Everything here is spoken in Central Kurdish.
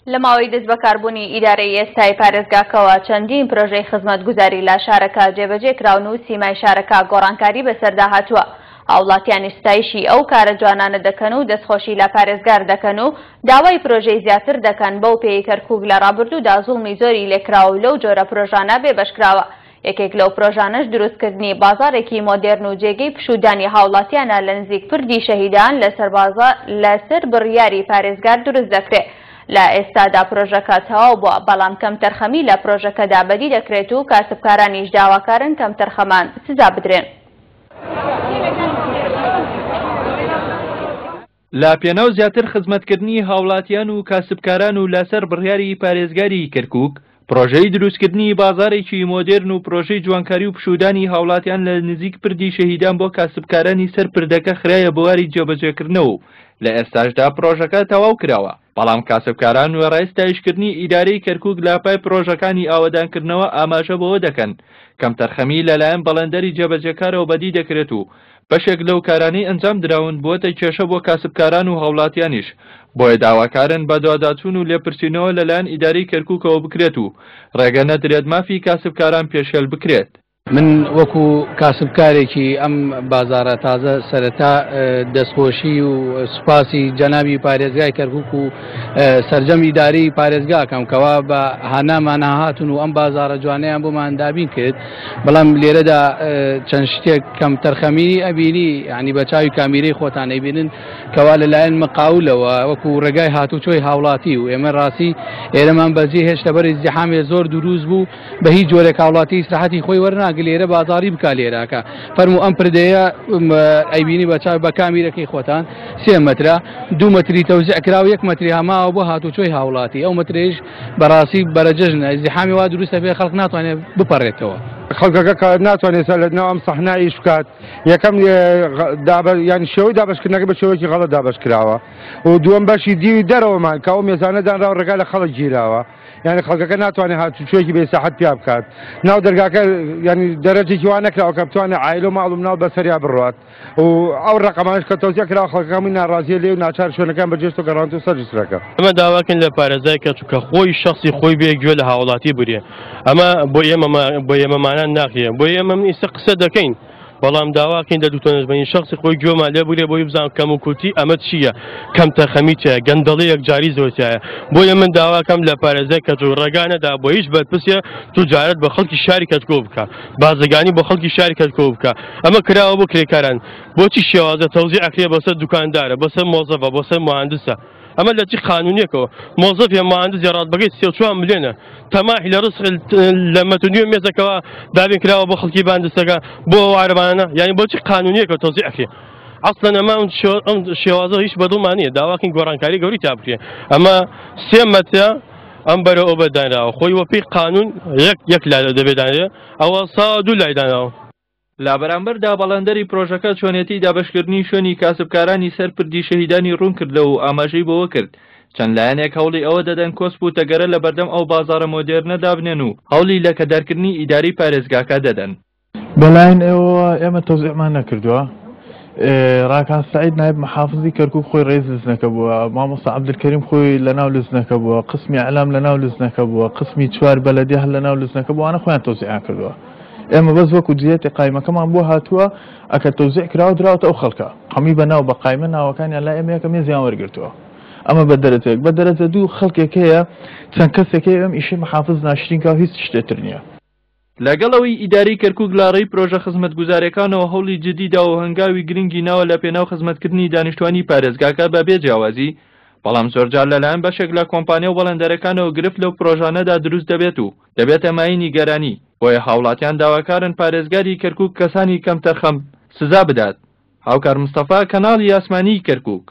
لە ماوەی دەستبەکاربوونی ئیدارەی ئێستای پارێزگاکەوە چەندین پرۆژەی خزمەتگوزاری لە شارەکە جێبەجێ کراون و سیمای شارەکە گۆڕانکاری بەسەردا هاتووە. هاوڵاتیانیش ستایشی ئەو کارە جوانانە دەکەن و دەستخۆشی لە پارێزگار دەکەن و داوای پرۆژەی زیاتر دەکەن، بەو پێیەی کەرکوک لە ڕابردوودا زوڵمی زۆری لێکراوە و لەو جۆرە پرۆژانە بێبەشکراوە. یەکێک لەو پرۆژانەش دروستکردنی بازاڕێکی مۆدێرن و جێگەی پشوودانی هاوڵاتیانە لە نزیک پردی شەهیدان لەسەر بڕیاری پارێزگار دروست دەکرێت. لە ئێستادا پرۆژەکە تەواو بووە، بەڵام کەمتەرخەمی لە پرۆژەکەدا بەدی دەکرێت و کاسبکارانیش داواکارن کەمتەرخەمان سزا بدرێن. لە پێناو زیاتر خزمەتکردنی هاوڵاتیان و کاسبکاران و لەسەر بڕیاری پارێزگاری کەرکوک، پرۆژەی دروستکردنی بازاڕێکی مۆدێرن و پرۆژەی جوانکاری و پشوودانی هاوڵاتیان لە نزیک پردی شەهیدان بۆ کاسبکارانی سەر پردەکە خرایە بواری جێبەجێکردنەوە و لە ئێستاشدا پرۆژەکە تەواو کراوە، بەڵام کاسبکاران وێڕای ستایشکردنی ئیدارەی کەرکوک لە پای پرۆژەکانی ئاوەدانکردنەوە ئاماژە بەوە دەکەن کەمتەرخەمی لەلایەن بەڵێندەری جێبەجێکارەوە بەدی دەکرێت و بەشێک لەو کارانەی ئەنجام دراون بووەتە کێشە بۆ کاسبکاران و هاوڵاتیانیش، بۆیە داواکارن بەدواداچوون و لێپرسینەوە لەلایەن ئیدارەی کەرکوکەوە بکرێت و ڕێگە نەدرێت مافی کاسبکاران پێشێل بکرێت. من وەکو کاسبکارێکی ئەم بازاڕە تازە سەرەتا دەستخۆشی و سوپاسی جەنابی پارێزگای کەرکوک و سەرجەم ئیدارەی پارێزگا ئەکەم کەوا بە هانامان هاتون و ئەم بازاڕە جوانەیان بۆمان دابین کرد، بەڵام لێرەدا چەند شتێک کەم تەرخەمی ئەبینی ینی بە چاوی کامیرەی خۆتان ئەیبینن کەوا لەلایەن مقاولەوە وەکو ڕێگای هاتوچۆی هاوڵاتی و ئێمە ڕاستی ئێرەمان بەجێ هێشت لەبەر ئیزدیحامێ زۆر دروست بوو بە هیچ جۆرێک هاوڵاتی ئیسراحەتی خۆی وەرناگرێ لێرە بازاری بکا لێراکە فەرموو ئەم پردەیە ئەیبینی بە چاو بە کامیرەکەی خۆتان سێ مەترە دوو مەتری تەوزیع کراوە یەک مەتری هەماوە بۆ هاتوچۆی هاوڵاتی ئەو مەترەیش بەڕاستی بەرەجەژنە ئیزدیحامی وا دروستە بێ خەڵک ناتوانێت بپەڕێتەوە. خەڵکەکە کە ناتوانێت لە ناو ئەم سەحنە ئیش بکات یەکەم یان شێوەی دابەشکردنەکە بە شێوەیەکی غەڵەت دابەش کراوە و دووەم بەشی دیوی دەرەوەمان کە ئەو مێزانە دانراوە ڕێگا لە خەڵک گیراوە یعنی خەڵکەکە ناتوانێت هاتوچۆیەکی بێ ساحەت پیا بکات ناو دەرگاکە یعنی دەرەجێکی وا نەکراوە کە بتوانێت عایلە و ماڵ و مناڵ بەسەریا بڕوات و ئەو ڕەقەمانەش کە تەوزیع کراوە خەڵکەکە هەمووی ناڕازیە لێ و ناچار شوێنەکان بەجێشت و گەڕاونەتەوە سەر جسرەکە. ئەمە داواکەین لە پارێزای کەرکوک کە خۆی شەخسی خۆی بێ گوێ لە هاوڵاتی بگرێ ئەمە بۆ ئێمە بۆ ئێمەمانان ناکرێ بۆ ئێمە من ئیستا قسە دەکەین بەڵام داواکەین لە دکتۆر نەجمەدین شەخسی خۆی گوێمان لێ بگرێ بۆی بزان کەم و کورتی ئەمە چییە کەم تەرخەمی تایە گەندەڵی یەکجاری زۆر تایە بۆیە من داواکەم لە پارێزای کەرکوک ڕێگا نەدا بۆ هیچ بەرپرسێ توجارەت بە خەڵکی شاری کەرکوک بکا بازرگانی بۆ خەڵکی شاری کەرکوک بکا ئەمە کراوە بۆ کرێکاران بۆچی شێوازە تەوزیع ئەکرێ بەسەر دوکاندارە بەسەر مۆزەفە بەسەر مهندسە ئەمە لە چی قانونیەکەوە مۆزەف یا مهندس یا ڕاتبەکەی 34 ملیۆنە تەماحی لە ڕزق لە مەتر نیوە مێزەکەوە دابین کراوە بۆ خەڵکی باندستەکە بۆ ئەو عەرەبانە یعنی بۆچی قانونیەکە تەوزیع ئەکرێ ئەسڵەن ئەمە ئەم شێوازە هیچ بەدڵمان نییە داواکەین گۆڕانکاری گەوری تا بکرێ ئەمە سێ مەترە ئەم بەرە ئەو بەدانراوە خۆی وەپی قانون یەک یەک لا دەبێ دانرێ ئەوە سا دوو لای دانراوە. لە بەرامبەردا بەڵێندەری پرۆژەکە چۆنێتی دابەشکردنی شوێنی کاسبکارانی سەر پردی شەهیدانی ڕوونکردەوە و ئاماژەی بەوەکرد، چەند لایەنێک هەوڵی ئەوە دەدەن کۆسپ و تەگەرە لەبەردەم ئەو بازاڕە مۆدێرنە دابنێن و هەوڵی لەکەدارکردنی ئیدارەی پارێزگاکە دەدەن. بەلایەن ئێوەوە ئێمە تەوزیعمان نەکردووە. ڕاکان سەعید نایب محافزی کەرکوک خۆی ڕئیس لجنەکە بووە، مامۆستا عەبدولکەریم خۆی لەناو لجنەکە بووە، قسمی ئیعلام لەناو لجنەکە بووە، قسمی چوار بەلەدیە هەر لەناو لجنەکە بووە، ئەوانە خۆیان تەوزیعیان کردووە. ئێمە بەس وەکو جیهەتی قایمەکەمان بۆ هاتووە، ئەکە تەوزیع کراوە دراوەتە ئەو خەڵکە. هەمووی بە ناو بە قایمە ناوەکانیان لای ئێمە یەکە مێزیان وەرگرتووە. ئەمە بە دەرەجە یەک. بە دەرەجە دوو خەڵکێک هەیە چەند کەسێک هەیە ئەم ئیشەی محافز ناشرین کا و هیچ شتێ تر نییە. لەگەڵ ئەوەی ئیدارەی کەرکوک لە ڕێی پرۆژە خزمەتگوزاریەکانەوە هەوڵی جدی داوە و هەنگاوی گرنگی ناوە لە پێناو خزمەتکردنی دانیشتوانی پارێزگاکە بە بێ جیاوازی، بەڵام زۆرجار لەلایەن بەشێک لە کۆمپانیا و بەڵێندەرەکانەوە گرفت لەو پرۆژانەدا دروست دەبێت و دەبێتە مایەی نیگەرانی، بۆیە هاوڵاتیان داواکارن پارێزگاری کەرکوک کەسانی کەمتەرخەم سزا بدات. هاوکار مستەفا، کەناڵی ئاسمانیی کەرکوک.